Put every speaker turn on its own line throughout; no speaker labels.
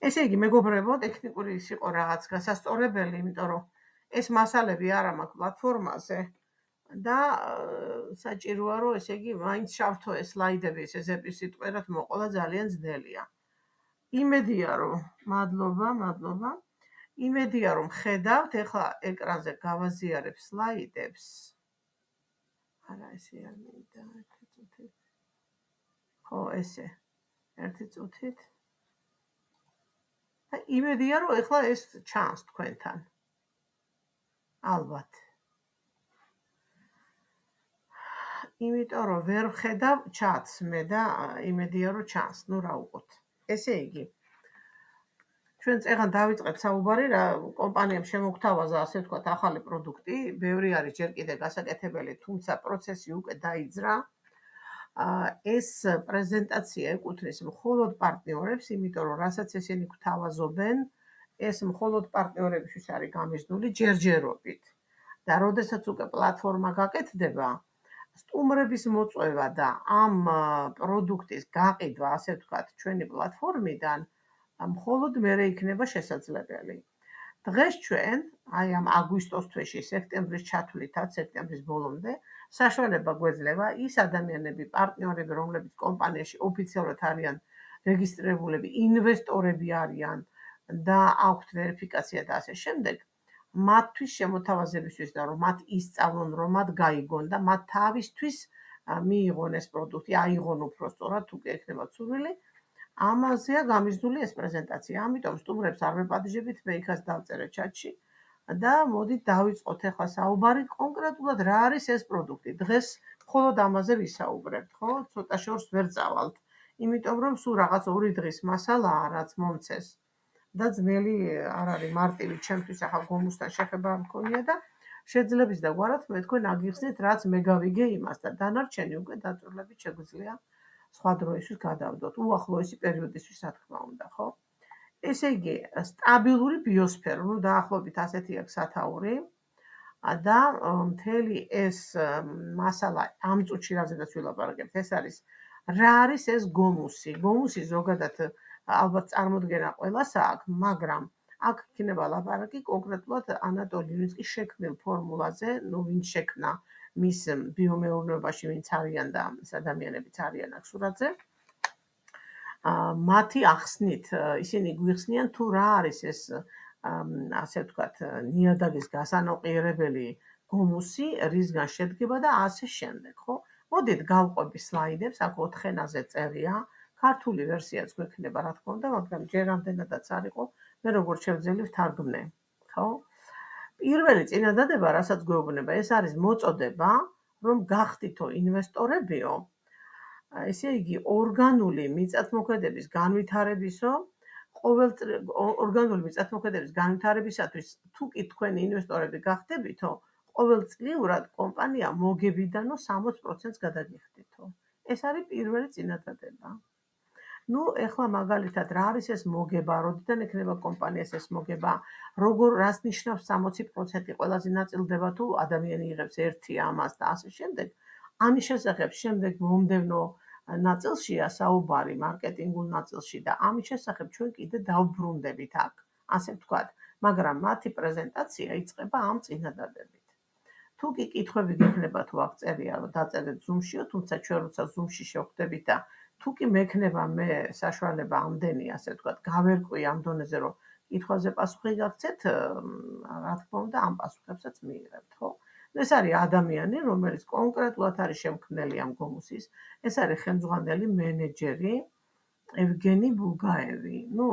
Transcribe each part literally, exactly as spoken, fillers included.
ესე იგი, მეგობრებო, ტექნიკური ის იყო რაღაც გასასწორებელი, იმიტომ რომ ეს მასალები არა მაქვს პლატფორმაზე და საჭიროა, რომ ესე იგი, მაინც შავთო ეს სლაიდები, ეს ეზეპი სიტყვერად მოყოლა ძალიან ძნელია. იმედია, რომ მადლობა, მადლობა. იმედია, რომ ხედავთ, ეხლა ეკრანზე გავაზიარებ სლაიდებს. არა, ესე არ მინდა, ერთი წუთით. ხო, ესე. ერთი წუთით. და იმედია, რომ ეხლა ეს ჩანს თქვენთან. ალბათ. იმიტომ რომ ვერ ვხედავ ჩატს მე და იმედია, რომ ჩანს. ნუ რა უყოთ. ესე იგი, ჩვენ წეგან დავიწყეთ საუბარი, რა კომპანიამ შემოგთავაზა, ასე ვთქვათ, ახალი პროდუქტი, ბევრი არის ჯერ კიდე გასაკეთებელი, თუმცა პროცესი უკვე დაიძრა. ეს პრეზენტაცია ეკუთვნის მხოლოდ პარტნიორებს, იმიტომ რომ რასაც ესენი გვთავაზობენ, ეს მხოლოდ პარტნიორებისთვის არის გამიზნული ჯერჯერობით. და როდესაც უკვე პლატფორმა გაკეთდება, სტუმრების მოწვევა და ამ პროდუქტის გაყიდვა, ასე ვთქვათ, ჩვენი პლატფორმიდან, მხოლოდ მერე იქნება შესაძლებელი. დღეს ჩვენ, აი ამ აგვისტოს თვეში, სექტემბრის ჩათვლითაც, სექტემბრის ბოლომდე, საშუალება გვეძლევა ის ადამიანები, პარტნიორები, რომლებიც კომპანიაში ოფიციალურად არიან რეგისტრირებულები, ინვესტორები არიან და აქვთ ვერიფიკაცია და ასე შემდეგ, მათთვის შემოთავაზებისთვის და რომ მათ ისწავლონ, რომ მათ გაიგონ და მათ თავისთვის მიიღონ ეს პროდუქტი, აიღონ უფრო სწორად, თუ კი ექნება სურვილი, ამაზეა გამიზნული ეს პრეზენტაცია. ამიტომ სტუმრებს არ ვეპატიჟებით, მე იქაც დავწერე ჩატში და მოდით დავიწყოთ ახლა საუბარი კონკრეტულად რა არის ეს პროდუქტი. დღეს მხოლოდ ამაზე ვისაუბრებთ, ხო? ცოტა შორს ვერ წავალთ, იმიტომ რომ სულ რაღაც ორი დღის მასალაა, რაც მომცეს და ძნელი არ არის მარტივი ჩემთვის ახლა გომუსთან შეხება მქონია და შეძლებს და გვარად მე თქვენ აგიხსნით, რაც მე გავიგე იმას და დანარჩენი უკვე დაწვრილებით შეგვიძლია სხვა დროისთვის გადავდოთ. უახლოესი პერიოდისთვის, რა თქმა უნდა, ხო? ესე იგი, სტაბილური ბიოსფერო, ну დაახლოებით ასეთი აქვს სათაური და მთელი ეს მასალა ამ წუთში რაზედაც ვილაპარაკებთ, ეს არის რა არის ეს გომუსი? გომუსი ზოგადად ალბათ წარმოდგენა ყველას აქვს, მაგრამ აქ იქნება ლაპარაკი კონკრეტულად ანატოლი ივინსკის შექმნილ ფორმულაზე, ну ვინ შექმნა მის ბიომეურნეობაში ვინც არიან და ეს ადამიანებიც არიან აქ სურათზე. მათი ახსნით, ისინი გვიხსნიან თუ რა არის ეს, ასე ვთქვათ, ნიადაგის გასანოყიერებელი გომუსი, რისგან შედგება და ასე შემდეგ, ხო? მოდით გავყვები სლაიდებს, აქ ოთხენაზე წერია, ქართული ვერსიაც გვექნება, რა თქმა უნდა, მაგრამ ჯერ ამდენადაც არ იყო, მე როგორც შევძელი ვთარგმნე, ხო? პირველი წინადადება, რასაც გვეუბნება, ეს არის მოწოდება, რომ გახდითო ინვესტორებიო, ესე იგი, ორგანული მიწათმოქმედების განვითარებისო, ყოველწლ ორგანული მიწათმოქმედების განვითარებისათვის, თუ კი თქვენი ინვესტორები გახდებითო, ყოველწლიურად კომპანია მოგებიდანო სამოც პროცენტს გადაგიხდითო. ეს არის პირველი წინადადება. ну, ეხლა მაგალითად რა არის ეს მოგება, როდიდან ექნება კომპანიას ეს მოგება, როგორ რას ნიშნავს სამოცი პროცენტი, ყველაზე ნაწილდება თუ ადამიანი იღებს ერთი ამას და ასე შემდეგ. ამის შესახებ შემდეგ მომდევნო ნაწილშია საუბარი, მარკეტინგულ ნაწილში და ამის შესახებ ჩვენ კიდე დავბრუნდებით აქ, ასე ვთქვათ, მაგრამ მათი პრეზენტაცია იწყება ამ წინადადებით. თუ კი კითხვები გექნება თუ აქ წერია, რომ დაწერეთ Zoom-შიო, თუმცა ჩვენ როცა Zoom-ში შევხვდებით და თუ კი მექნება მე საშუალება ამდენი, ასე ვთქვათ, გავერკვი ამ დონეზე, რომ კითხვაზე პასუხი გაგცეთ, რა თქმა უნდა, ამ პასუხებსაც მიიღებთ, ხო? ეს არის ადამიანი, რომელიც კონკრეტულად არის შემქმნელი ამ გომუსის, ეს არის ხელმძღვანელი მენეჯერი ევგენი ბულგაევი. ну,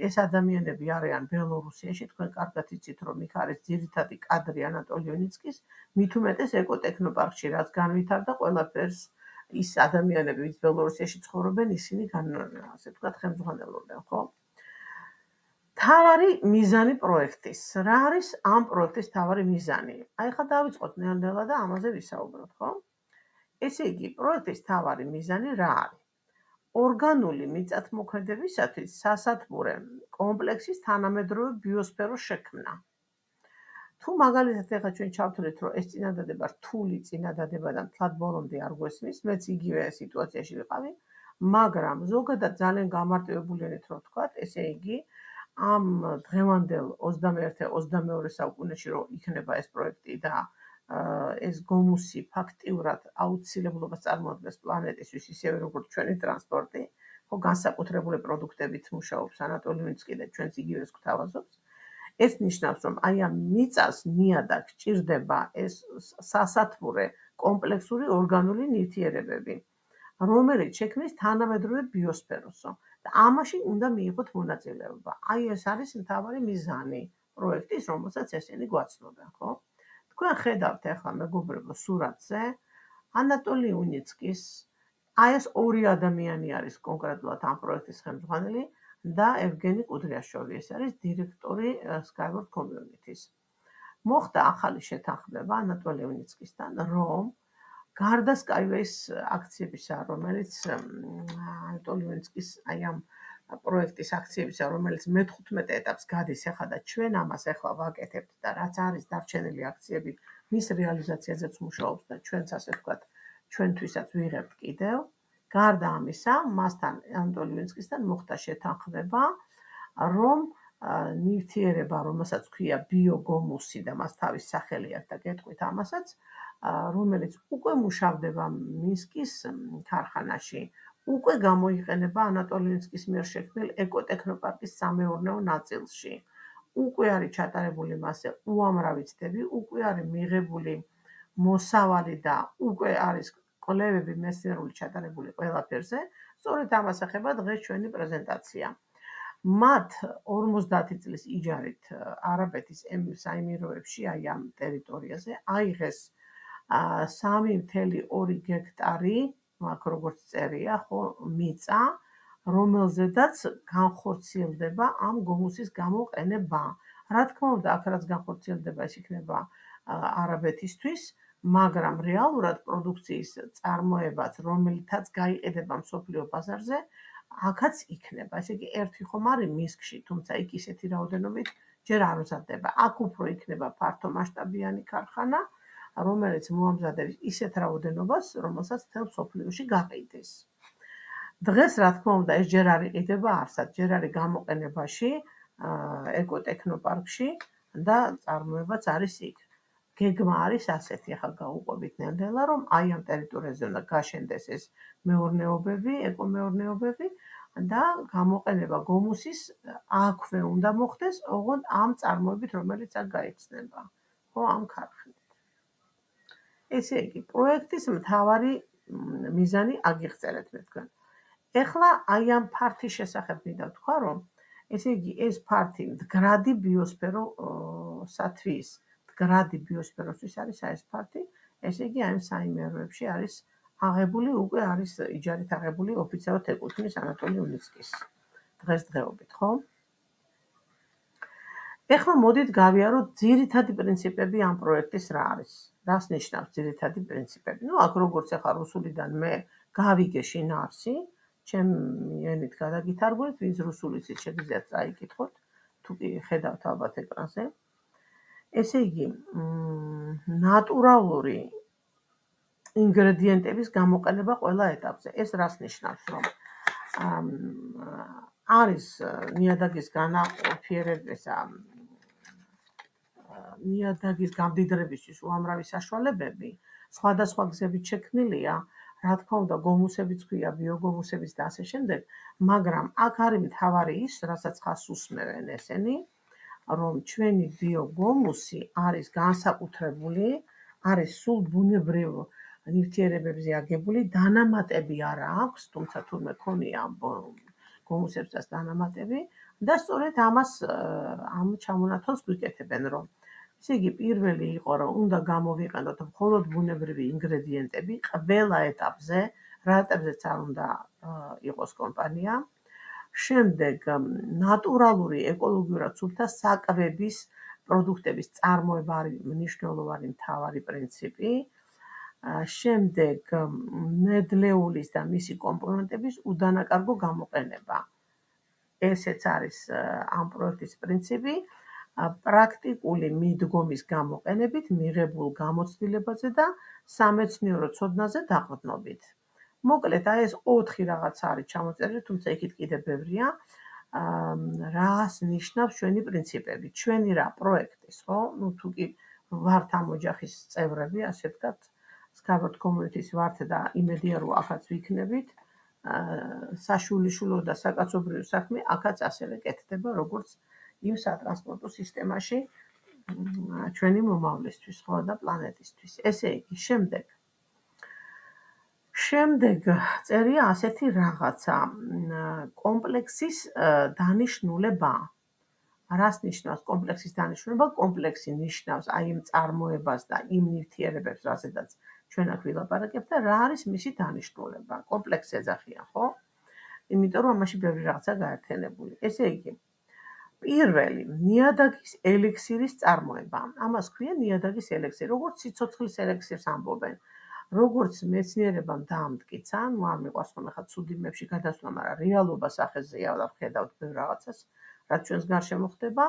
ეს ადამიანები არიან ბელორუსიაში, თქვენ კარგად იცით, რომ იქ არის ძირითადი კადრი ანატოლი ივინსკის, მით უმეტეს ეკოტექნოპარკში, რაც განვითარდა ყველაფერს ის ადამიანები, ვინც ბელორუსიაში ცხოვრობენ, ისინი ასე ვთქვათ, ხელმძღვანელობენ, ხო? თავარი მიზანი პროექტის. რა არის ამ პროექტის თავარი მიზანი? აი ხა დავიწყოთ ნელ-ნელა და ამაზე ვისაუბროთ, ხო? ესე იგი, პროექტის თავარი მიზანი რა არის? ორგანული მიწათმოქმედებისათვის სასათბურე კომპლექსის თანამედროვე ბიოსფეროს შექმნა. თუ მაგალითად ეხლა ჩვენ ჩავთვლით, რომ ეს წინადადება რთული წინადადება და მთლად ბოლომდე არ გვესმის, მეც იგივე სიტუაციაში ვიყავი, მაგრამ ზოგადად ძალიან გამარტივებულენით რო ვთქვათ, ესე იგი ამ დღევანდელ ოცდამეერთე ოცდამეორე საუკუნეში რო იქნება ეს პროექტი და ეს გომუსი ფაქტიურად აუცილებლობას წარმოადგენს პლანეტისთვის, ისევე როგორც ჩვენი ტრანსპორტი, ხო განსაკუთრებული პროდუქტებით მუშაობს ანატოლი უნიცკი და ჩვენც იგივეს გვთავაზობს. ეს ნიშნავს, რომ აი ამ მიწას ნიადაგ ჭირდება ეს სასათბურე კომპლექსური ორგანული ნივთიერებები, რომელიც შექმნის თანამედროვე ბიოსფეროსო და ამაში უნდა მიიღოთ მონაწილეობა. აი ეს არის მთავარი მიზანი პროექტის, რომელსაც ესენი გვაცნობენ, ხო? თქვენ ხედავთ ახლა მეგობრებო სურათზე ანატოლი უნიცკის აი ეს ორი ადამიანი არის კონკრეტულად ამ პროექტის ხელმძღვანელი და ევგენი კუდრიაშვილი, ეს არის დირექტორი Skyward Community-ს. მოხდა ახალი შეთანხმება ანატოლი უნიცკისთან, რომ გარდა Skyway-ს აქციებისა, რომელიც ანატოლი უნიცკის აი ამ პროექტის აქციებისა, რომელიც მეთხუთმეტე ეტაპს გადის ახლა და ჩვენ ამას ახლა ვაკეთებთ და რაც არის დარჩენილი აქციები, მის რეალიზაციაზეც მუშაობს და ჩვენც ასე ვთქვათ, ჩვენთვისაც ვიღებთ კიდევ. გარდა ამისა, მასთან ანატოლი უნიცკისთან მოხდა შეთანხმება, რომ ნივთიერება, რომელსაც ქვია ბიოგომუსი და მას თავის სახელი აქვს და გეტყვით ამასაც, რომელიც უკვე მუშავდება მინსკის ქარხანაში, უკვე გამოიყენება ანატოლი უნიცკის მიერ შექმნილ ეკოტექნოპარკის სამეურნეო ნაწილში. უკვე არის ჩატარებული მასზე უამრავი ცდები, უკვე არის მიღებული მოსავალი და უკვე არის კვლევები მეცნიერული ჩატარებული ყველაფერზე. სწორედ ამას ეხება დღეს ჩვენი პრეზენტაცია. მათ ორმოცდაათი წლის იჯარით არაბეთის საიმიროებში, აი ამ ტერიტორიაზე, აიღეს სამი მთელი ორი გექტარი, აქ როგორც წერია, ხო, მიწა, რომელზედაც განხორციელდება ამ გომუსის გამოყენება. რა თქმა უნდა, აქ რაც განხორციელდება, ეს იქნება არაბეთისთვის, მაგრამ რეალურად პროდუქციის წარმოებაც, რომელთაც გაიყიდება მსოფლიო ბაზარზე, აქაც იქნება. ესე იგი, ერთი ხომ არის მინსკში, თუმცა იქ ისეთი რაოდენობით ჯერ არ მზადდება. აქ უფრო იქნება ფართომასშტაბიანი ქარხანა, რომელიც მოამზადებს ისეთ რაოდენობას, რომელსაც მთელ მსოფლიოში გაყიდეს. დღეს, რა თქმა უნდა, ეს ჯერ არ იყიდება არსად, ჯერ არის გამოყენებაში ეკოტექნოპარკში და წარმოებაც არის იქ. გეგმა არის ასეთი, ახლა გაუყვებით ნელ-ნელა, რომ აი ამ ტერიტორიაზე უნდა გაშენდეს ეს მეურნეობები, ეკომეურნეობები და გამოყენება გომუსის აქვე უნდა მოხდეს, ოღონდ ამ წარმოებით, რომელიც აქ გაიხსნება, ხო, ამ ქარხნით. ესე იგი, პროექტის მთავარი მიზანი აგიღწევთ მე თქვენ. ეხლა აი ამ ფართის შესახებ მინდა ვთქვა, რომ ესე იგი, ეს ფართი მდგრადი ბიოსფეროსათვის, მდგრადი ბიოსფეროსთვის არის ეს ფართი, ესე იგი, აი ამ საიმეროებში არის აღებული, უკვე არის იჯარით აღებული ოფიციალურად ეკუთვნის ანატოლი უნიცკის დღესდღეობით, ხო? ეხლა მოდით გავიაროთ ძირითადი პრინციპები ამ პროექტის რა არის. რას ნიშნავს ძირითადი პრინციპები? ნუ აქ როგორც ახლა რუსულიდან მე გავიგე შინაარსი, ჩემი ენით გადაგითარგმნით, ვინც რუსული იცით, შეგიძლიათ წაიკითხოთ, თუ კი ხედავთ ალბათ ეკრანზე. ესე იგი, ნატურალური ინგრედიენტების გამოყენება ყველა ეტაპზე. ეს რას ნიშნავს, რომ არის ნიადაგის განაყოფიერებისა, ნიადაგის გამდიდრებისთვის უამრავი საშუალებები, სხვადასხვა გზებით შექმნილია, რა თქმა უნდა, გომუსებიც ქვია, ბიოგომუსებიც და ასე შემდეგ, მაგრამ აქ არის მთავარი ის, რასაც ხას უსმევენ ესენი, რომ ჩვენი ბიოგომუსი არის განსაკუთრებული, არის სულ ბუნებრივ ნივთიერებებზე აგებული, დანამატები არ აქვს, თუმცა თურმე ქონია გომუსებსაც დანამატები და სწორედ ამას ამ ჩამონათვალს გვიკეთებენ, რომ ესე იგი, პირველი იყო, რომ უნდა გამოვიყენოთ მხოლოდ ბუნებრივი ინგრედიენტები ყველა ეტაპზე, რა ეტაპზეც არ უნდა იყოს კომპანია. შემდეგ ნატურალური ეკოლოგიურად სუფთა საკვების პროდუქტების წარმოება არის მნიშვნელოვანი მთავარი პრინციპი. შემდეგ ნედლეულის და მისი კომპონენტების უდანაკარგო გამოყენება. ესეც არის ამ პროექტის პრინციპი. პრაქტიკული მიდგომის გამოყენებით მიღებულ გამოცდილებაზე და სამეცნიერო ცოდნაზე დაყრდნობით. მოკლედ, აი ეს ოთხი რაღაც არის ჩამოწერილი, თუმცა იქით კიდე ბევრია. რას ნიშნავს ჩვენი პრინციპები, ჩვენი რა პროექტის, ხო? ნუ თუ კი ვართ ამ ოჯახის წევრები, ასე ვთქვათ, Scarborough Community-ის ვართ და იმედია რომ ახაც ვიქნებით, საშულიშულო და საკაცობრიო საქმე აქაც ასევე კეთდება, როგორც იმ სატრანსპორტო სისტემაში ჩვენი მომავლისთვის, ხო, და პლანეტისთვის. ესე იგი, შემდეგ შემდეგ წერია ასეთი რაღაცა, კომპლექსის დანიშნულება. რას ნიშნავს კომპლექსის დანიშნულება? კომპლექსი ნიშნავს აი იმ წარმოებას და იმ ნივთიერებებს, რასაც ჩვენ აქ ვილაპარაკებთ და რა არის მისი დანიშნულება. კომპლექსი ეძახიან, ხო? იმიტომ რომ ამაში ბევრი რაღაცა გაერთიანებული. ესე იგი, პირველი ნიადაგის ელექსირის წარმოება. ამას ქვია ნიადაგის ელექსირი, როგორც სიცოცხლის ელექსირს ამბობენ. როგორც მეცნიერებამ დაამტკიცა, ნუ არ მიყვარს ხოლმე ხა ცუდი იმებში გადასვლა, მაგრამ რეალობა სახეზეა და ვხედავთ ბევრ რაღაცას, რაც ჩვენს გარშემო ხდება.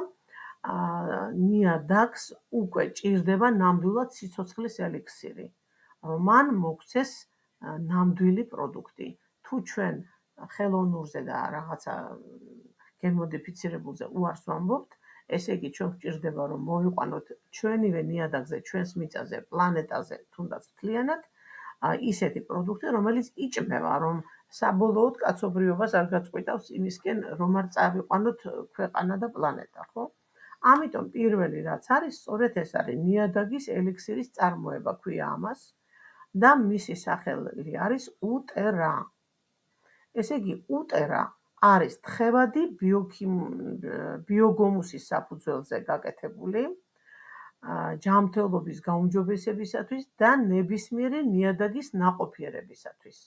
ნიადაგს უკვე ჭირდება ნამდვილად სიცოცხლის ელექსირი, რომ მან მოგვცეს ნამდვილი პროდუქტი. თუ ჩვენ ხელოვნურზე და რაღაცა გენმოდიფიცირებულზე უარს ვამბობთ, ესე იგი ჩვენ გვჭირდება რომ მოვიყვანოთ ჩვენივე ნიადაგზე, ჩვენს მიწაზე, პლანეტაზე, თუნდაც მთლიანად ისეთი პროდუქტი, რომელიც იჭმევა, რომ საბოლოოდ კაცობრიობას არ გაწყვიტავს იმისკენ, რომ არ წავიყვანოთ ქვეყანა და პლანეტა, ხო? ამიტომ პირველი რაც არის, სწორედ ეს არის ნიადაგის ელექსირის წარმოება, ქვია ამას და მისი სახელი არის უტერა. ესე იგი, უტერა არის თხევადი ბიოგომუსის საფუძველზე გაკეთებული ჯანმრთელობის გაუმჯობესებისათვის და ნებისმიერი ნიადაგის ნაყოფიერებისათვის.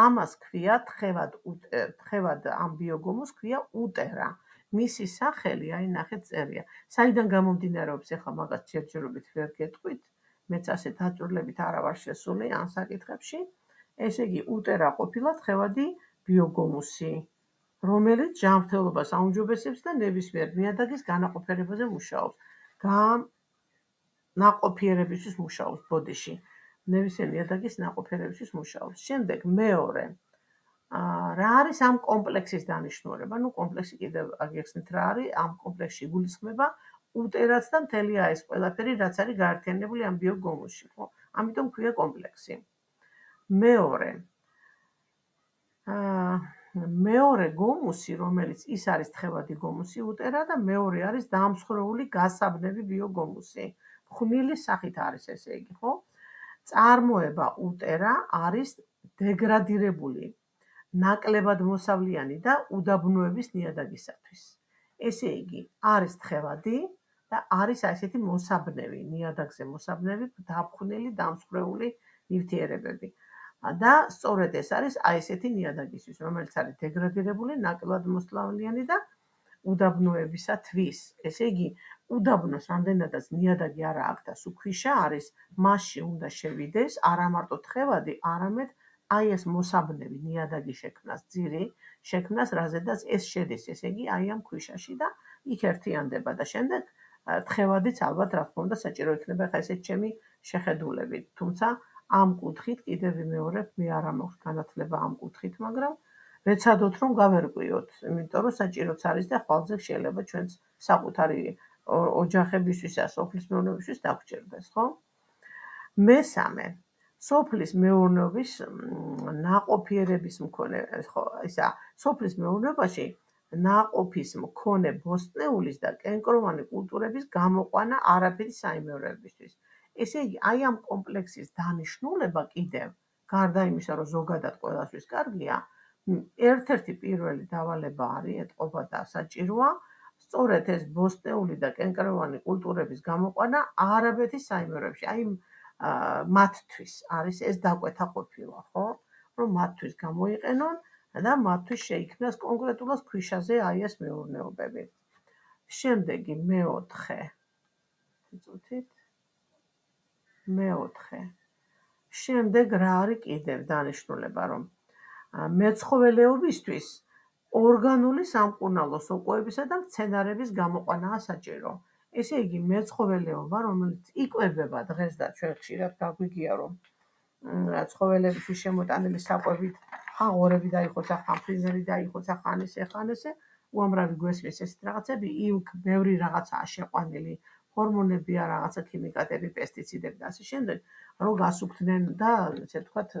ამას ქვია თხევად ამ ბიოგომუსს ქვია უტერა. მისი სახელი, აი ნახეთ წერია. საიდან გამომდინარეობს, ეხლა მაგას ჯერჯერობით ვერ გეტყვით, მეც ასე დაწვრილებით არა ვარ შესული ამ საკითხებში. ესე იგი, უტერა ყოფილა თხევადი ბიოგომუსი, რომელიც ჯანმრთელობას აუმჯობესებს და ნებისმიერ ნიადაგის განაყოფიერებაზე მუშაობს. ნაყოფიერებისთვის მუშაობს ბოდიში. ნებისმიერ ნიადაგის ნაყოფიერებისთვის მუშაობს. შემდეგ მეორე. რა არის ამ კომპლექსის დანიშნულება? ნუ კომპლექსი კიდევ აგიხსნით რა არის, ამ კომპლექსში იგულისხმება უტერაც და მთელი ეს ყველაფერი, რაც არის გაერთიანებული ამ ბიოგომუსში, ხო? ამიტომ ქვია კომპლექსი. მეორე. მეორე გომუსი, რომელიც ის არის თხევადი გომუსი უტერა და მეორე არის დამსხვრეული გასაბნევი ბიოგომუსი. ხვნილის სახით არის ესე იგი, ხო? წარმოება უტერა არის დეგრადირებული, ნაკლებად მოსავლიანი და უდაბნოების ნიადაგისათვის. ესე იგი, არის თხევადი და არის ასეთი მოსაბნევი, ნიადაგზე მოსაბნევი, დაფხვნილი, დამსხვრეული ნივთიერებები. და სწორედ ეს არის აი ესეთი ნიადაგისთვის, რომელიც არის დეგრადირებული, ნაკლებად მოსავლიანი და უდაბნოებისათვის. ესე იგი, უდაბნოს რამდენადაც ნიადაგი არა აქვს და სულ ქვიშა არის, მასში უნდა შევიდეს არა მარტო თხევადი, არამედ აი ეს მოსაბნევი ნიადაგი შექმნას, ძირი შექმნას, რაზედაც ეს შედის, ესე იგი, აი ამ ქვიშაში და იქ ერთიანდება და შემდეგ თხევადიც ალბათ რა თქმა უნდა საჭირო იქნება ხა ესეთ ჩემი შეხედულებით. თუმცა ამ კუთხით კიდევ ვიმეორებ, მე არ მაქვს განათლება ამ კუთხით, მაგრამ ვეცადოთ რომ გავერკვიოთ, იმიტომ რომ საჭიროც არის და ხვალზე შეიძლება ჩვენს საკუთარი ოჯახებისთვის და სოფლის მეურნეობისთვის დაგვჭირდეს, ხო? მესამე, სოფლის მეურნეობის ნაყოფიერების მქონე, ხო, ისა, სოფლის მეურნეობაში ნაყოფის მქონე ბოსტნეულის და კენკროვანი კულტურების გამოყვანა არაფერი საიმეორებისთვის. ესე იგი, აი ამ კომპლექსის დანიშნულება კიდევ, გარდა იმისა, რომ ზოგადად ყველასთვის კარგია, ერთ-ერთი პირველი დავალება არის, ეტყობა და საჭიროა, სწორედ ეს ბოსტნეული და კენკროვანი კულტურების გამოყვანა არაბეთის საიმეორებში, აი მათთვის არის ეს დაკვეთა ყოფილა, ხო? რომ მათთვის გამოიყენონ და მათთვის შეიქმნას კონკრეტულად ქვიშაზე აი ეს მეურნეობები. შემდეგი მეოთხე. წუთით. მეოთხე. შემდეგ რა არის კიდევ დანიშნულება, რომ მეცხოველეობისთვის ორგანული სამკურნალო სოკოებისა და მცენარეების გამოყვანაა საჭირო. ესე იგი, მეცხოველეობა, რომელიც იკვებება დღეს და ჩვენ ხშირად გაგვიგია, რომ ცხოველებისთვის შემოტანილი საკვებით, ხაღორები დაიხოცა, ხამფრინზელი დაიხოცა, ხან ესე, ხან ესე, უამრავი გვესმის ესეთ რაღაცები, იქ ბევრი რაღაცაა შეყვანილი, ჰორმონებია, რაღაცა ქიმიკატები, პესტიციდები და ასე შემდეგ, რომ გასუფთნენ და ესე ვთქვათ,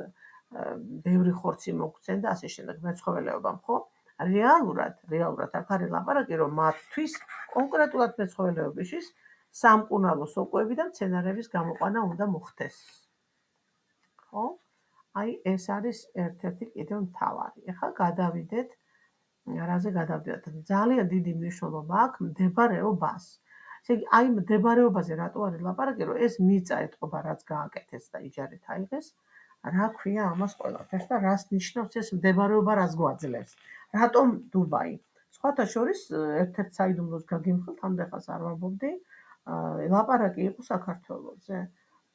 ბევრი ხორცი მოგცენ და ასე შემდეგ მეცხოველეობამ, ხო? რეალურად, რეალურად აქ არის ლაპარაკი, რომ მათთვის კონკრეტულად მეცხოველეობისთვის სამკურნალო სოკოები და მცენარეების გამოყვანა უნდა მოხდეს. ხო? აი ეს არის ერთ-ერთი კიდევ მთავარი. ეხლა გადავიდეთ, რაზე გადავიდეთ? ძალიან დიდი მნიშვნელობა აქვს მდებარეობას. ესე იგი, აი მდებარეობაზე რატო არის ლაპარაკი, რომ ეს მიწა ეთყობა, რაც გააკეთეს და იჯარით აიღეს, რა ქვია ამას ყველაფერს და რას ნიშნავს ეს მდებარეობა, რას გვაძლევს? რატომ დუბაი? სხვათა შორის ერთ-ერთ საიდუმლოს გაგიმხილთ, ამდენ ხანს არ ვამბობდი, ლაპარაკი იყო საქართველოზე.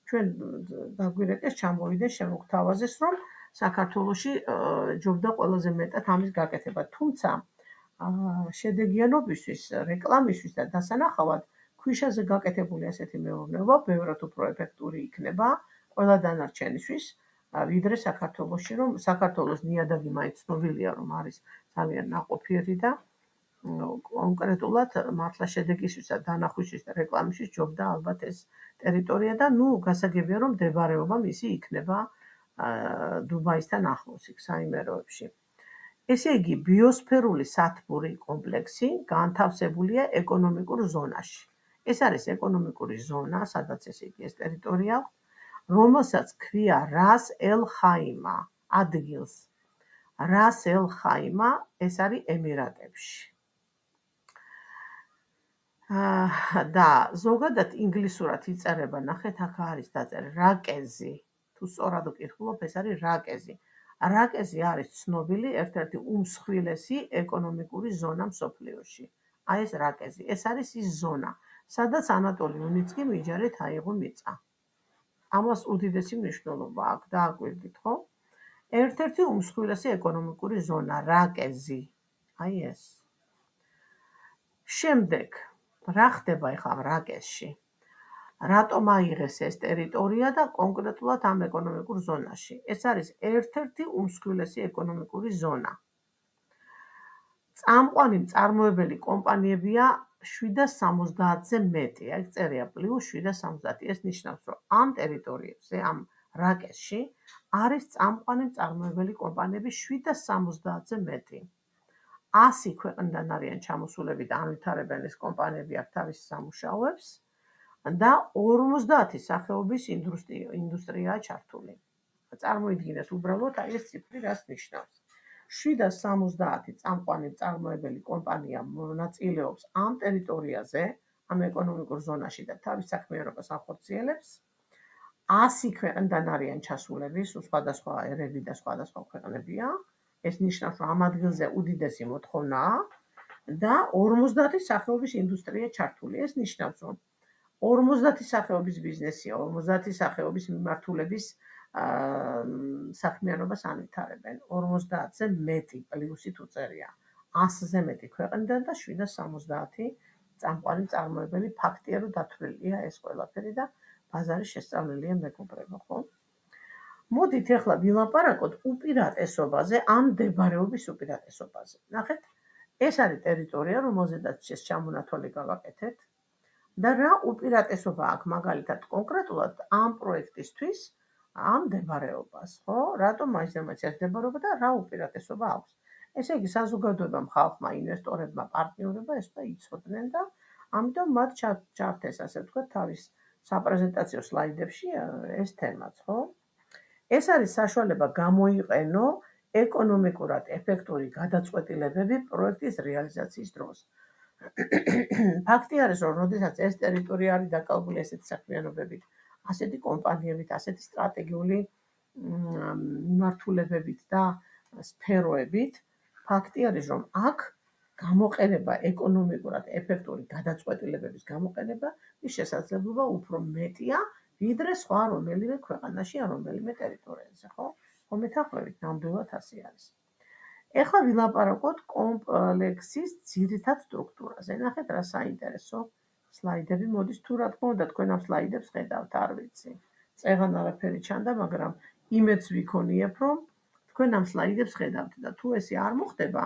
ჩვენ დაგვირეკეს, ჩამოვიდეს, შემოგთავაზეს, რომ საქართველოში ჯობდა ყველაზე მეტად ამის გაკეთება. თუმცა შედეგიანობისთვის, რეკლამისთვის და დასანახავად ქვიშაზე გაკეთებული ასეთი მეურნეობა ბევრად უფრო ეფექტური იქნება ყველა დანარჩენისთვის, ვიდრე საქართველოში, რომ საქართველოს ნიადაგი მაინც ცნობილია, რომ არის ძალიან ნაყოფიერი და კონკრეტულად მართლა შედეგისთვის და დანახვისთვის და რეკლამისთვის ჯობდა ალბათ ეს ტერიტორია და ნუ გასაგებია, რომ მდებარეობა მისი იქნება დუბაისთან ახლოს იქ საიმეროებში. ესე იგი, ბიოსფერული სათბური კომპლექსი განთავსებულია ეკონომიკურ ზონაში. ეს არის ეკონომიკური ზონა, სადაც ესე იგი ეს ტერიტორია აქვს, რომელსაც ქვია რას ელ ხაიმა ადგილს. რას ელ ხაიმა ეს არის ემირატებში. და ზოგადად ინგლისურად იწერება, ნახეთ, აქ არის დაწერილი რაკეზი. თუ სწორად ვკითხულობ, ეს არის რაკეზი. რაკეზი არის ცნობილი ერთ-ერთი უმსხვილესი ეკონომიკური ზონა მსოფლიოში. აი ეს რაკეზი, ეს არის ის ზონა, სადაც ანატოლი უნიცკი მიჯარით აიღო მიწა. ამას უდიდესი მნიშვნელობა აქვს, დააკვირდით, ხო? ერთ-ერთი უმსხვილესი ეკონომიკური ზონა, რაკეზი. აი ეს. შემდეგ, რა ხდება ახლა რაკეზში? რატომ აიღეს ეს ტერიტორია და კონკრეტულად ამ ეკონომიკურ ზონაში? ეს არის ერთ-ერთი უმსხვილესი ეკონომიკური ზონა. წამყვანი მწარმოებელი კომპანიებია შვიდას სამოცდაათზე მეტი, აი წერია პლუს შვიდას სამოცდაათი. ეს ნიშნავს, რომ ამ ტერიტორიებზე, ამ რაკეზში არის წამყვანი მწარმოებელი კომპანიები შვიდას სამოცდაათზე მეტი. ასი ქვეყნიდან არიან ჩამოსულები და ანვითარებენ ეს კომპანიები აქ თავის სამუშაოებს და ორმოცდაათი სახეობის ინდუსტრიაა ჩართული. წარმოიდგინეთ უბრალოდ აი ეს ციფრი რას ნიშნავს. შვიდას სამოცდაათი წამყვანი მწარმოებელი კომპანია მონაწილეობს ამ ტერიტორიაზე, ამ ეკონომიკურ ზონაში და თავის საქმიანობას ახორციელებს. ასი ქვეყნიდან არიან ჩასულები, სხვადასხვა ერები და სხვადასხვა ქვეყნებია. ეს ნიშნავს, რომ ამ ადგილზე უდიდესი მოთხოვნაა და ორმოცდაათი სახეობის ინდუსტრია ჩართული. ეს ნიშნავს, რომ ორმოცდაათი სახეობის ბიზნესია, ორმოცდაათი სახეობის მიმართულების საქმიანობას ანვითარებენ. ორმოცდაათზე მეტი პლუსით უწერია. ასზე მეტი ქვეყნიდან და შვიდას სამოცდაათი წამყვანი მწარმოებელი ფაქტია, რომ დათვლილია ეს ყველაფერი და ბაზარი შესწავლილია მეგობრებო, ხო? მოდით ახლა ვილაპარაკოთ უპირატესობაზე, ამ მდებარეობის უპირატესობაზე. ნახეთ, ეს არის ტერიტორია, რომელზედაც ეს ჩამონათვალი გავაკეთეთ და რა უპირატესობა აქვს მაგალითად კონკრეტულად ამ პროექტისთვის, ამ მდებარეობას, ხო? რატომ მაინც და მაინც ეს მდებარეობა და რა უპირატესობა აქვს? ესე იგი, საზოგადოებამ, ხალხმა, ინვესტორებმა, პარტნიორებმა ეს და იცოდნენ და ამიტომ მათ ჩართეს, ასე ვთქვათ, თავის საპრეზენტაციო სლაიდებში ეს თემაც, ხო? ეს არის საშუალება გამოიყენო ეკონომიკურად ეფექტური გადაწყვეტილებები პროექტის რეალიზაციის დროს. ფაქტი არის, რომ როდესაც ეს ტერიტორია არის დაკავებული ესეთი საქმიანობებით, ასეთი კომპანიებით, ასეთი სტრატეგიული მიმართულებებით და სფეროებით, ფაქტი არის, რომ აქ გამოყენება ეკონომიკურად ეფექტური გადაწყვეტილებების გამოყენება ის შესაძლებლობა უფრო მეტია, ვიდრე სხვა რომელიმე ქვეყანაში ან რომელიმე ტერიტორიაზე, ხო? ხომეთახვევით ნამდვილად ასე არის. ეხლა ვილაპარაკოთ კომპლექსის ძირითად სტრუქტურაზე. ნახეთ რა საინტერესო სლაიდები მოდის, თუ რა თქმა უნდა თქვენ ამ სლაიდებს ხედავთ, არ ვიცი. წეღან არაფერი ჩანდა, მაგრამ იმედს ვიქონიებ, რომ თქვენ ამ სლაიდებს ხედავთ და თუ ესე არ მოხდება,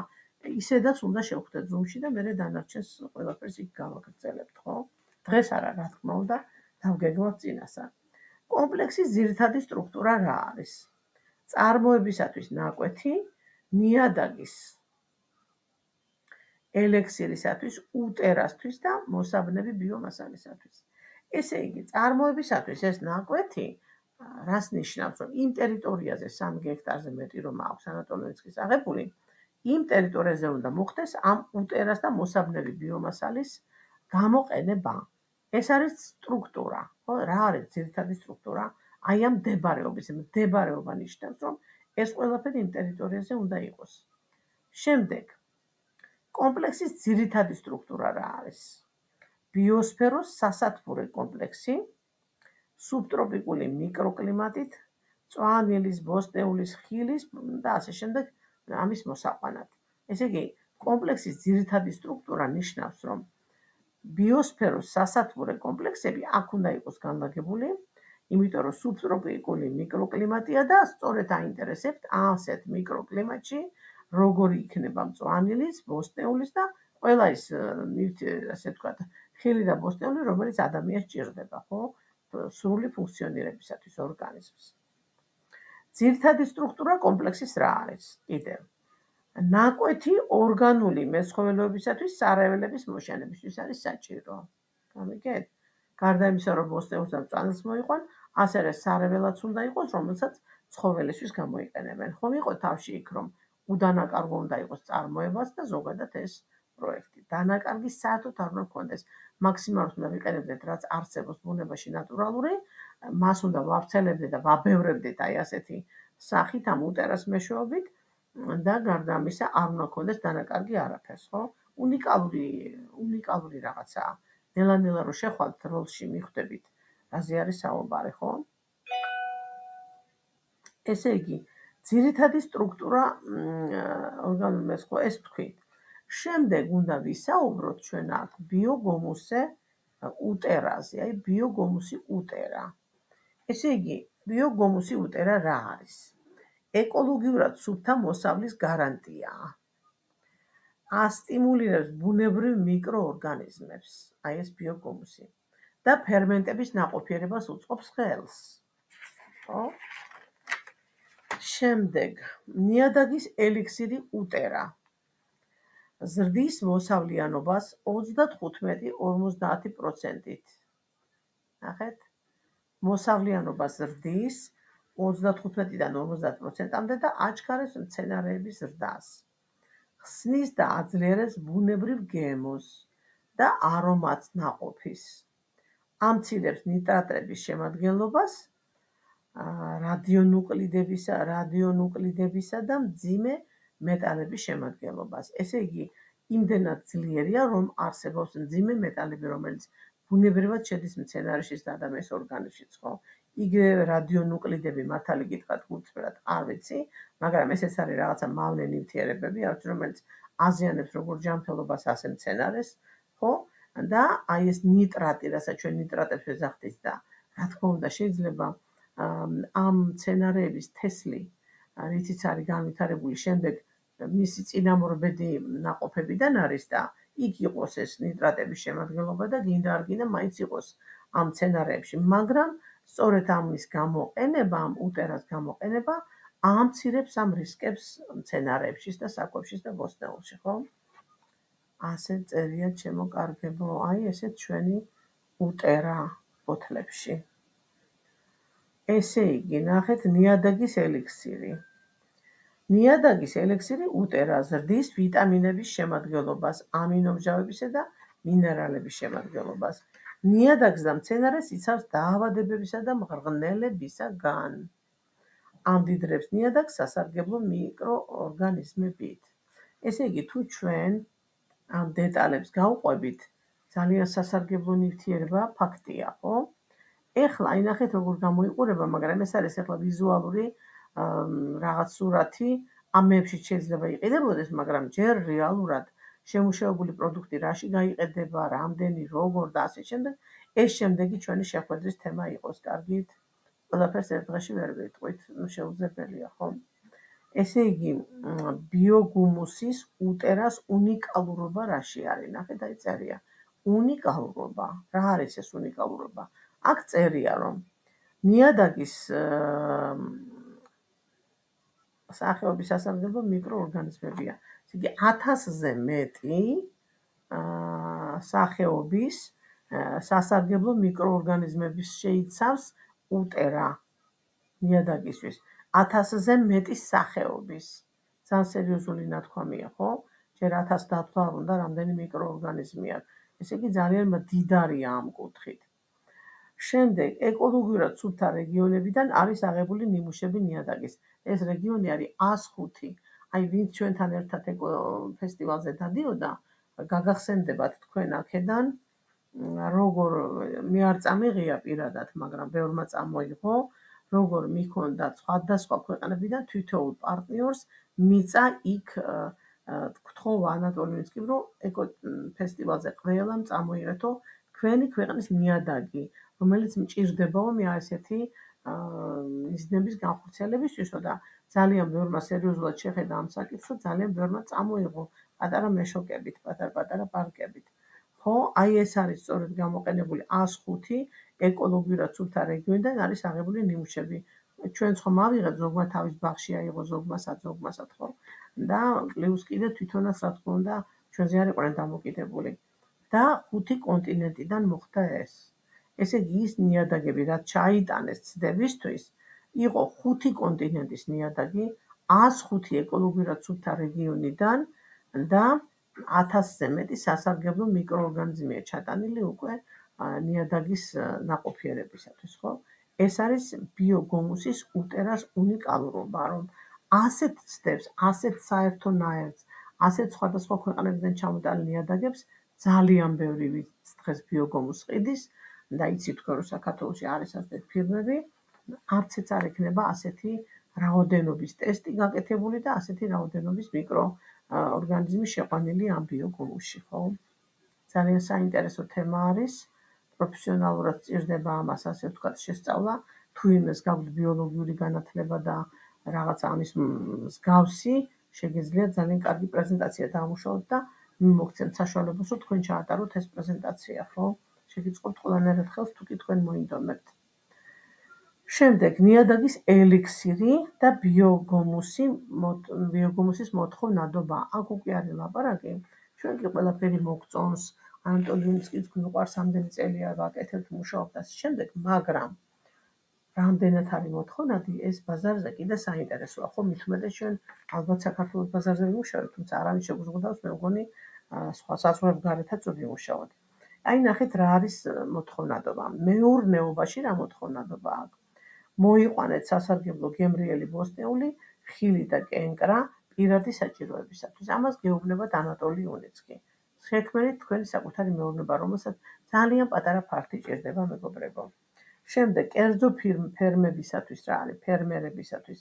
ისედაც უნდა შევხვდეთ Zoom-ში და მერე დანარჩენს ყველაფერს იქ გავაგრძელებთ, ხო? დღეს არა, რა თქმა უნდა, დავგეგმავთ წინასწარ. კომპლექსის ძირითადი სტრუქტურა რა არის? წარმოებისათვის ნაკვეთი, ნიადაგის ელექსირისათვის, უტერასთვის და მოსაბნევი ბიომასალისათვის. ესე იგი, წარმოებისათვის ეს ნაკვეთი რას ნიშნავს, რომ იმ ტერიტორიაზე სამი გექტარზე მეტი რომ აქვს ანატოლოინსკის აღებული, იმ ტერიტორიაზე უნდა მოხდეს ამ უტერას და მოსაბნევი ბიომასალის გამოყენება. ეს არის სტრუქტურა, ხო? რა არის ძირითადი სტრუქტურა? აი ამ მდებარეობის, მდებარეობა ნიშნავს, რომ ეს ყველაფერი იმ ტერიტორიაზე უნდა იყოს. შემდეგ, კომპლექსის ძირითადი სტრუქტურა რა არის? ბიოსფეროს სასათბურე კომპლექსი, სუბტროპიკული მიკროკლიმატით, წვანილის, ბოსტნეულის, ხილის და ასე შემდეგ ამის მოსაყვანად. ესე იგი, კომპლექსის ძირითადი სტრუქტურა ნიშნავს, რომ ბიოსფეროს სასათბურე კომპლექსები აქ უნდა იყოს განლაგებული, იმიტომ რომ სუბტროპიკული მიკროკლიმატია და სწორედ აინტერესებთ ასეთ მიკროკლიმატში როგორი იქნება მწვანილის, ბოსტნეულის და ყველა ის ასე ვთქვათ, ხილი და ბოსტნეული, რომელიც ადამიანს ჭირდება, ხო? სრული ფუნქციონირებისათვის ორგანიზმის. ძირითადი სტრუქტურა კომპლექსის რა არის? კიდევ ნაკვეთი ორგანული მეცხოველეობისათვის სარეველების მოშენებისთვის არის საჭირო. გამიგეთ? გარდა იმისა, რომ ბოსტნეულს და მწვანილს მოიყვან, ასევე სარეველაც უნდა იყოს, რომელსაც ცხოველისთვის გამოიყენებენ. ხომ იყო თავში იქ, რომ უდანაკარგო უნდა იყოს წარმოებაც და ზოგადად ეს პროექტი. დანაკარგი საერთოდ არ უნდა გქონდეს. მაქსიმალურად უნდა ვიყენებდეთ, რაც არსებობს ბუნებაში ნატურალური, მას უნდა ვავრცელებდეთ და ვაბევრებდეთ აი ასეთი სახით ამ უტერას მეშვეობით და გარდა ამისა არ უნდა გქონდეს დანაკარგი არაფერს, ხო? უნიკალური, უნიკალური რაღაცაა. ნელა-ნელა რომ შეხვალთ როლში მიხვდებით, რაზე არის საუბარი, ხო? ესე იგი, ძირითადი სტრუქტურა ორგანული მეცხოველეობის ეს ვთქვით. შემდეგ უნდა ვისაუბროთ ჩვენ აქ ბიოგომუსზე უტერაზე, აი ბიოგომუსი უტერა. ესე იგი, ბიოგომუსი უტერა რა არის? ეკოლოგიურად სუფთა მოსავლის გარანტიაა. ასტიმულირებს ბუნებრივ მიკროორგანიზმებს, აი ეს ბიოგომუსი და ფერმენტების ნაყოფიერებას უწყობს ხელს. ხო? შემდეგ, ნიადაგის ელიქსირი უტერა. ზრდის მოსავლიანობას ოცდათხუთმეტი ორმოცდაათი პროცენტით. ნახეთ? მოსავლიანობა ზრდის ოცდათხუთმეტიდან ორმოცდაათ პროცენტამდე და აჩქარებს მცენარეების ზრდას. ხსნის და აძლიერებს ბუნებრივ გემოს და არომატს ნაყოფის. ამცირებს ნიტრატების შემადგენლობას რადიონუკლიდებისა, რადიონუკლიდებისა და მძიმე მეტალების შემადგენლობას. ესე იგი, იმდენად ძლიერია, რომ არსებობს მძიმე მეტალები, რომელიც ბუნებრივად შედის მცენარეშიც და ადამიანის ორგანიზმშიც, ხო? იგივე რადიონუკლიდები, მართალი გითხრათ, გულწრფელად არ ვიცი, მაგრამ ესეც არის რაღაცა მავნე ნივთიერებები, რომელიც აზიანებს როგორც ჯანმრთელობას, ასე მცენარეს, ხო? და აი ეს ნიტრატი, რასაც ჩვენ ნიტრატებს ვეძახდით და რა თქმა უნდა, შეიძლება ამ მცენარეების თესლი, რითიც არის განვითარებული, შემდეგ მისი წინამორბედი ნაყოფებიდან არის და იქ იყოს ეს ნიტრატების შემადგენლობა და გინდა არ გინდა მაინც იყოს ამ მცენარეებში, მაგრამ სწორედ ამის გამოყენება, ამ უტერას გამოყენება ამცირებს ამ რისკებს მცენარეებშიც და საკვებშიც და ბოსტნეულში, ხო? ასე წერია ჩემო კარგებო, აი ესეც ჩვენი უტერა ფოთლებში. ესე იგი, ნახეთ, ნიადაგის ელიქსირი. ნიადაგის ელექსირი უტერა ზრდის ვიტამინების შემადგენლობას, ამინომჟავებისა და მინერალების შემადგენლობას. ნიადაგს და მცენარეს იცავს დაავადებებისა და მღრღნელებისაგან. ამდიდრებს ნიადაგს სასარგებლო მიკროორგანიზმებით. ესე იგი, თუ ჩვენ ამ დეტალებს გავყვებით, ძალიან სასარგებლო ნივთიერება ფაქტია, ხო? ეხლა აი ნახეთ როგორ გამოიყურება, მაგრამ ეს არის ეხლა ვიზუალური რაღაც სურათი, ამებში შეიძლება იყიდებოდეს, მაგრამ ჯერ რეალურად შემუშავებული პროდუქტი რაში გაიყიდება, რამდენი, როგორ და ასე შემდეგ, ეს შემდეგი ჩვენი შეხვედრის თემა იყოს, კარგით? ყველაფერს ერთ დღეში ვერ ვიტყვით, შეუძლებელია, ხო? ესე იგი, ბიოგუმუსის უტერას უნიკალურობა რაში არის? ნახეთ, აი წერია. უნიკალურობა. რა არის ეს უნიკალურობა? აქ წერია, რომ ნიადაგის სახეობის სასარგებლო მიკროორგანიზმებია. ესე იგი, ათასზე მეტი სახეობის სასარგებლო მიკროორგანიზმების შეიცავს უტერა ნიადაგისთვის. ათასზე მეტი სახეობის. ძალიან სერიოზული ნათქვამია, ხო? ჯერ ათას დათვლა არ უნდა, რამდენი მიკროორგანიზმი აქვს. ესე იგი, ძალიან მდიდარია ამ კუთხით. შემდეგ, ეკოლოგიურად სუფთა რეგიონებიდან არის აღებული ნიმუშები ნიადაგის. ეს რეგიონი არის ას ხუთი. აი, ვინც ჩვენთან ერთად ფესტივალზე დადიოდა, გაგახსენდებათ თქვენ აქედან, როგორ მე არ წამიღია პირადად, მაგრამ ბევრმა წამოიღო, როგორ მიქონდა სხვადასხვა ქვეყნებიდან თითოეულ პარტნიორს მიწა იქ გთხოვა ანატოლინსკიმ, რომ ეკო ფესტივალზე ყველამ წამოიღეთო თქვენი ქვეყნის ნიადაგი, რომელიც მჭირდებაო მე ასეთი მიზნების განხორციელებისთვისო და ძალიან ბევრმა სერიოზულად შეხედა ამ საკითხს და ძალიან ბევრმა წამოიღო პატარა მეშოკებით, პატარ-პატარა პარკებით. ხო, აი ეს არის სწორედ გამოყენებული ას ხუთი ეკოლოგიურად სუფთა რეგიონიდან არის აღებული ნიმუშები. ჩვენც ხომ ავიღეთ, ზოგმა თავის ბაღში აიღო, ზოგმასაც, ზოგმასაც, ხო? და პლუს კიდე თვითონაც რა თქმა უნდა ჩვენზე არ იყვნენ დამოკიდებული. და ხუთი კონტინენტიდან მოხდა ეს. ესე იგი, ის ნიადაგები, რაც ჩაიტანეს ცდებისთვის, იყო ხუთი კონტინენტის ნიადაგი, ას ხუთი ეკოლოგიურად სუფთა რეგიონიდან და ათასზე მეტი სასარგებლო მიკროორგანიზმია ჩატანილი უკვე ნიადაგის ნაყოფიერებისათვის, ხო? ეს არის ბიოგუმუსის უტერას უნიკალურობა, რომ ასეთ ცდებს, ასეთ საერთო ნაერთს, ასეთ სხვადასხვა ქვეყნებიდან ჩამოტანილ ნიადაგებს ძალიან ბევრი ვინც დღეს ბიოგუმუსს ყიდის და იცით თქვენ, რომ საქართველოში არის ასეთი ფირმები, არც ეც არ ექნება ასეთი რაოდენობის ტესტი გაკეთებული და ასეთი რაოდენობის მიკროორგანიზმი შეყვანილი ამ ბიოგუმუსში, ხო? ძალიან საინტერესო თემა არის. პროფესიონალურად სჭირდება ამას, ასე ვთქვათ, შესწავლა, თუ იმეს გაქვთ ბიოლოგიური განათლება და რაღაცა ამის მსგავსი, შეგიძლიათ ძალიან კარგი პრეზენტაცია დაამუშავოთ და მოგცემთ საშუალებას, რომ თქვენ ჩაატაროთ ეს პრეზენტაცია, ხო? შეგიწყობთ ყველანაირად ხელს, თუ კი თქვენ მოინდომებთ. შემდეგ, ნიადაგის ელიქსირი და ბიოგუმუსი, ბიოგუმუსის მოთხოვნადობა. აქ უკვე არის ლაპარაკი, ჩვენ კი ყველაფერი მოგწონს, ანატოლინსკის გვიყვარს, ამდენი წელია ვაკეთებთ, მუშაობთ ასე შემდეგ, მაგრამ რამდენად არის მოთხოვნადი, ეს ბაზარზე კიდე საინტერესოა, ხო? მით უმეტეს ჩვენ ალბათ საქართველოს ბაზარზე ვიმუშავებთ, თუმცა არავის შეგვიზღუდავს, მე მგონი სხვა საზღვრებს გარეთაც ვიმუშაოთ. აი, ნახეთ რა არის მოთხოვნადობა. მეურნეობაში რა მოთხოვნადობა აქვს? მოიყვანეთ სასარგებლო გემრიელი ბოსტნეული, ხილი და კენკრა პირადი საჭიროებისათვის. ამას გეუბნებათ ანატოლი უნიცკი. შექმნით თქვენი საკუთარი მეურნეობა, რომელსაც ძალიან პატარა ფართი ჭირდება, მეგობრებო. შემდეგ, კერძო ფერმებისათვის რა არის? ფერმერებისათვის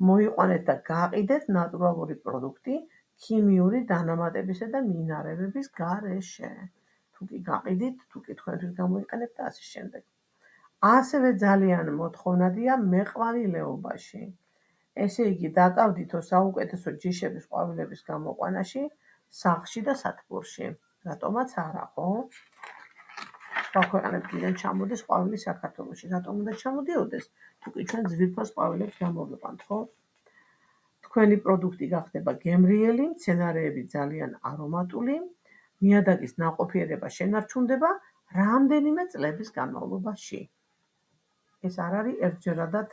მოიყვანეთ და გაყიდეთ ნატურალური პროდუქტი ქიმიური დანამატებისა და მინარევების გარეშე. თუ კი გაყიდით, თუ კი თქვენთვის გამოიყენებთ და ასე შემდეგ. ასევე ძალიან მოთხოვნადია მეყვავილეობაში. ესე იგი, დაკავდითო საუკეთესო ჯიშების ყვავილების გამოყვანაში, სახლში და სათბურში. რატომაც არა, ხო? სხვა ქვეყნებიდან ჩამოდის ყვავილი საქართველოში. რატომ უნდა ჩამოდიოდეს? თუ კი ჩვენ ძვირფას ყვავილებს გამოვიყვანთ, ხო? თქვენი პროდუქტი გახდება გემრიელი, მცენარეები ძალიან არომატული, ნიადაგის ნაყოფიერება შენარჩუნდება რამდენიმე წლების განმავლობაში. ეს არ არის ერთჯერადად,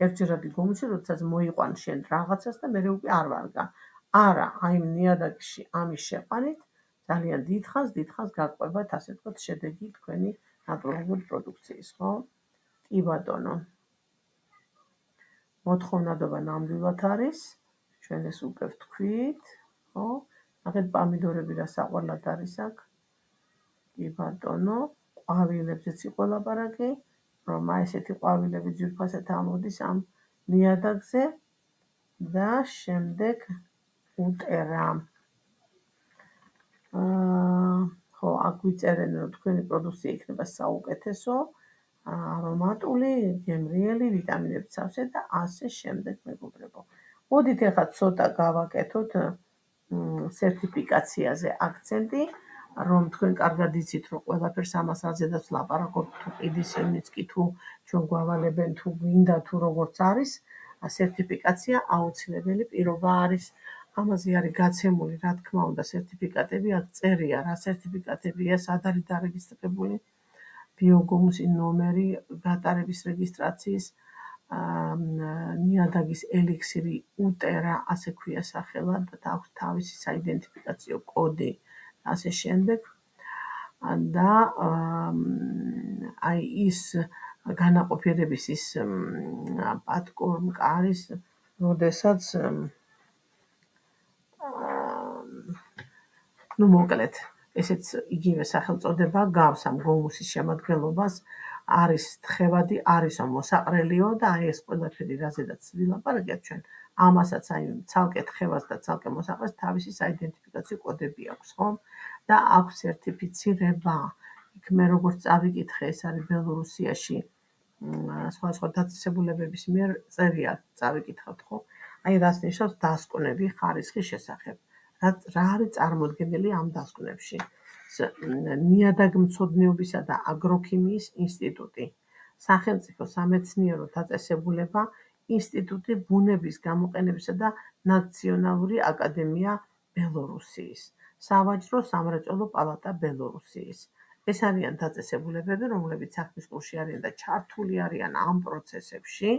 ერთჯერადი გუმუსი, როდესაც მოიყვან შენ რაღაცას და მერე უკვე არ ვარგა. არა, აი ნიადაგში ამის შეყვანით ძალიან დიდხანს, დიდხანს გაყვებათ, ასე ვთქვათ, შედეგი თქვენი ნატურალური პროდუქციის, ხო? კი ბატონო. მოთხოვნადობა ნამდვილად არის, ჩვენ ეს უკვე ვთქვით, ხო? ნახეთ, პამიდორები რა საყვარლად არის აქ. კი ბატონო, ყვავილებზეც იყო ლაპარაკი, რომ აი ესეთი ყვავილები ძვირფასად ამოდის ამ ნიადაგზე და შემდეგ უტერა. ხო, აქ ვიწერენ, რომ თქვენი პროდუქცია იქნება საუკეთესო, არომატული, გემრიელი, ვიტამინებით სავსე და ასე შემდეგ, მეგობრებო. მოდით ახლა ცოტა გავაკეთოთ სერტიფიკაციაზე აქცენტი, რომ თქვენ კარგად იცით, რომ ყველაფერს ამას რაზედაც ვლაპარაკობთ, თუ ყიდის ელნიც კი თუ ჩვენ გვავალებენ, თუ გვინდა, თუ როგორც არის, სერტიფიკაცია აუცილებელი პირობა არის. ამაზე არის გაცემული, რა თქმა უნდა, სერტიფიკატები, აქ წერია, რა სერტიფიკატებია, სად არის დარეგისტრირებული, ბიოგომუსი ნომერი, გატარების რეგისტრაციის, ნიადაგის ელიქსირი უტერა, ასე ქვია სახელად, და აქვს თავისი საიდენტიფიკაციო კოდი, ასე შემდეგ. და აი ის განაყოფიერების ის პატკორნკა არის, როდესაც ნუ მოკლედ, ესეც იგივე სახელწოდება გავს ამ გომუსის შემადგენლობას, არის თხევადი, არისო მოსაყრელიო და აი ეს ყველაფერი, რაზედაც ვილაპარაკეთ ჩვენ, ამასაც აი ცალკე თხევას და ცალკე მოსაყრეს თავისი საიდენტიფიკაციო კოდები აქვს, ხო? და აქვს სერტიფიცირება. იქ მე როგორც წავიკითხე, ეს არის ბელორუსიაში სხვადასხვა დაწესებულებების მიერ წერია, წავიკითხავთ, ხო? აი რას ნიშნავს დასკვნები ხარისხის შესახებ. რა არის წარმოდგენილი ამ დასკვნებში? ნიადაგმცოდნეობისა და აგროქიმიის ინსტიტუტი, სახელმწიფო სამეცნიერო დაწესებულება, ინსტიტუტი ბუნების გამოყენებისა და ნაციონალური აკადემია ბელორუსიის, სავაჭრო სამრეწველო პალატა ბელორუსიის. ეს არიან დაწესებულებები, რომლებიც საქმის კურსში არიან და ჩართული არიან ამ პროცესებში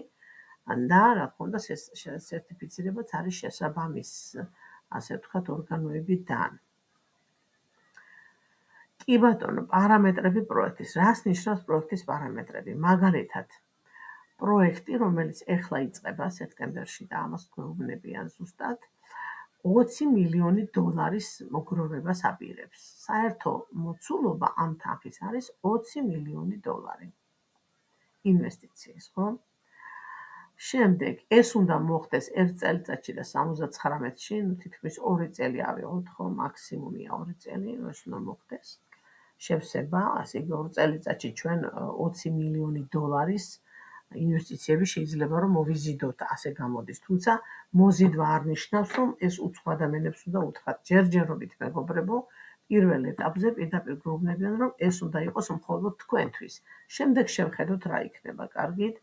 და რა თქმა უნდა სერტიფიცირებაც არის შესაბამის, ასე ვთქვათ, ორგანოებიდან. კი ბატონო, პარამეტრები პროექტის. რას ნიშნავს პროექტის პარამეტრები? მაგალითად, პროექტი, რომელიც ეხლა იწყება სექტემბერში და ამას გვეუბნებიან ზუსტად, ოცი მილიონი დოლარის მოგროვებას აპირებს. საერთო მოცულობა ამ თანხის არის ოცი მილიონი დოლარი ინვესტიციის, ხო? შემდეგ, ეს უნდა მოხდეს ერთ წელიწადში და სამოცდათხრამეტში, ნუ თითქმის ორი წელი ავიღოთ, ხო, მაქსიმუმია ორი წელი, ეს უნდა მოხდეს. შევსება, ასე იგი ორ წელიწადში ჩვენ ოცი მილიონი დოლარის ინვესტიციები შეიძლება რომ მოვიზიდოთ, ასე გამოდის. თუმცა მოზიდვა არ ნიშნავს, რომ ეს უცხო ადამიანებს უნდა უთხრათ. ჯერჯერობით, მეგობრებო, პირველ ეტაპზე პირდაპირ გვეუბნებიან, რომ ეს უნდა იყოს მხოლოდ თქვენთვის. შემდეგ შევხედოთ რა იქნება, კარგით?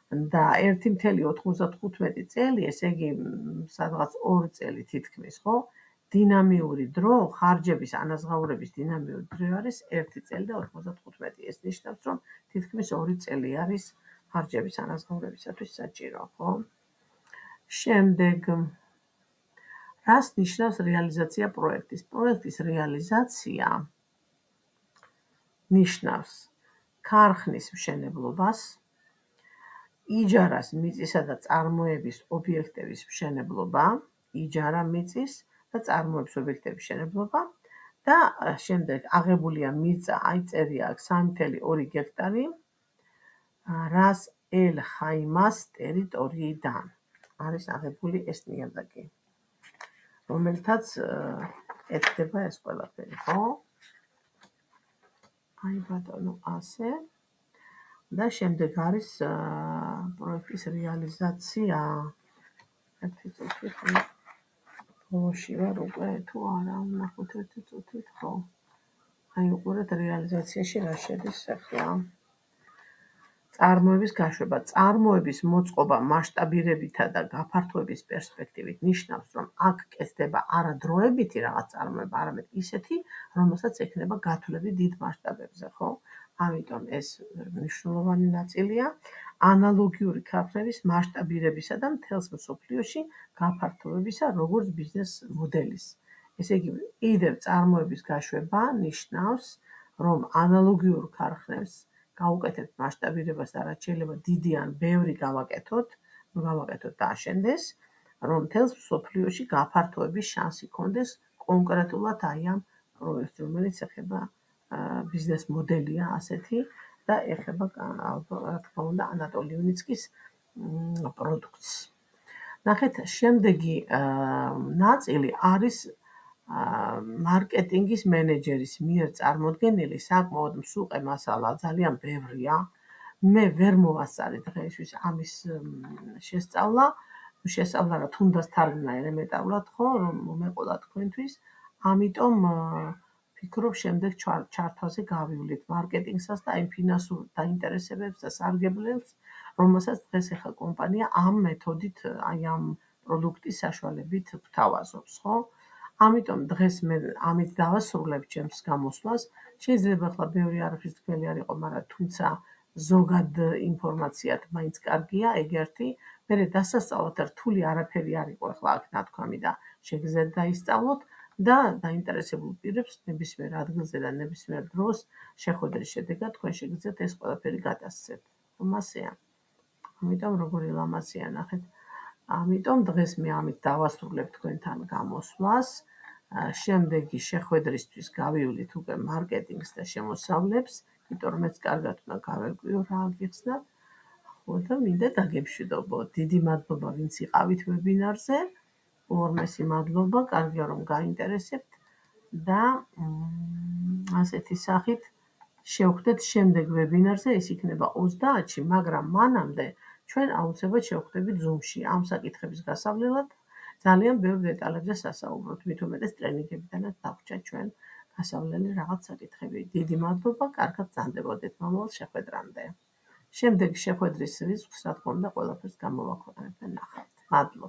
და ერთი მცდელო ოთხმოცდათხუთმეტი წელი, ესე იგი სადღაც ორი წელი თითქმის, ხო? დინამიური დრო, ხარჯების ანაზღაურების დინამიური დრო არის ერთი წელი და ოთხმოცდათხუთმეტი. ეს ნიშნავს, რომ თითქმის ორი წელი არის ხარჯების ანაზღაურებისათვის საჭირო, ხო? შემდეგ, რას ნიშნავს რეალიზაცია პროექტის? პროექტის რეალიზაცია ნიშნავს ქარხნის მშენებლობას, იჯარას, მიწისა და წარმოების ობიექტების მშენებლობა, იჯარა, მიწის და წარმოების ობიექტების მშენებლობა და შემდეგ აღებულია მიწა, აი წერია აქ სამი ათეული ორი გექტარი რას ელ ხაიმას ტერიტორიიდან არის აღებული ეს ნიადაგი, რომელთაც ეთდება ეს ყველაფერი, ხო? აი ბატონო, ასე. და შემდეგ არის პროექტის რეალიზაცია. ერთი წუთით, ბოლოში ვარ უკვე, თუ არა, ვნახოთ ერთი წუთით, ხო? აი უყურეთ რეალიზაციაში რა შედის ახლა. წარმოების გაშვება. წარმოების მოწყობა მასშტაბირებითა და გაფართოების პერსპექტივით ნიშნავს, რომ აქ კეთდება არა დროებითი რაღაც წარმოება, არამედ ისეთი, რომელსაც ექნება გათვლები დიდ მასშტაბებზე, ხო? ამიტომ ეს მნიშვნელოვანი ნაწილია ანალოგიური ქარხნების მასშტაბირებისა და მთელს მსოფლიოში გაფართოებისა როგორც ბიზნეს მოდელის. ესე იგი, კიდევ წარმოების გაშვება ნიშნავს, რომ ანალოგიურ ქარხნებს გავუკეთებთ მასშტაბირებას და რაც შეიძლება დიდი ან ბევრი გავაკეთოთ, ნუ გავაკეთოთ და აშენდეს, რომ მთელს მსოფლიოში გაფართოების შანსი ქონდეს კონკრეტულად აი ამ პროექტს, რომელიც ეხება ბიზნეს მოდელია ასეთი და ეხება, რა თქმა უნდა, ანატოლი იუნიცკის პროდუქტს. ნახეთ, შემდეგი ნაწილი არის მარკეტინგის მენეჯერის მიერ წარმოდგენილი საკმაოდ მსუყე მასალა, ძალიან ბევრია. მე ვერ მოვასწარი დღეისთვის ამის შესწავლა, შესწავლა რა თუნდაც თარგმნა ელემენტარულად ხო, რომ მომეყოლა თქვენთვის, ამიტომ ფიქრობ შემდეგ ჩართვაზე გავივლით მარკეტინგსაც და იმ ფინანსურ დაინტერესებებს და სარგებლებს, რომელსაც დღეს ახლა კომპანია ამ მეთოდით, აი ამ პროდუქტის საშუალებით გვთავაზობს, ხო? ამიტომ დღეს მე ამით დავასრულებ ჩემს გამოსვლას. შეიძლება ახლა ბევრი არაფრის თქვენი არ იყო, მაგრამ თუმცა ზოგად ინფორმაციად მაინც კარგია ეგ ერთი. მერე დასასწავლად რთული არაფერი არ იყო ახლა აქ ნათქვამი და შეგიძლიათ დაისწავლოთ და დაინტერესებულ პირებს ნებისმიერ ადგილზე და ნებისმიერ დროს შეხვედრის შედეგად თქვენ შეგიძლიათ ეს ყველაფერი გადასცეთ. რომ ასეა. ამიტომ როგორი ლამაზია ნახეთ. ამიტომ დღეს მე ამით დავასრულებ თქვენთან გამოსვლას. შემდეგი შეხვედრისთვის გავივლით უკვე მარკეტინგს და შემოსავლებს, იმიტომ რომ მეც კარგად უნდა გავერკვიო რა აგიხსნათ. ხო და მინდა დაგემშვიდობოთ. დიდი მადლობა ვინც იყავით ვებინარზე. ორმესი მადლობა, კარგია რომ გაინტერესებთ და ასეთი სახით შევხვდეთ შემდეგ ვებინარზე, ეს იქნება ოცდაათში, მაგრამ მანამდე ჩვენ აუცილებლად შევხვდებით Zoom-ში ამ საკითხების გასავლელად. ძალიან ბევრ დეტალებზე სასაუბროთ, მით უმეტეს ტრენინგებიდანაც დაგვჭა ჩვენ გასავლელი რაღაც საკითხები. დიდი მადლობა, კარგად გრძანდებოდეთ მომავალ შეხვედრამდე. შემდეგი შეხვედრის რიცხვს, რა თქმა უნდა, ყველაფერს გამოვაქვეყნებთ და ნახავთ. მადლობა.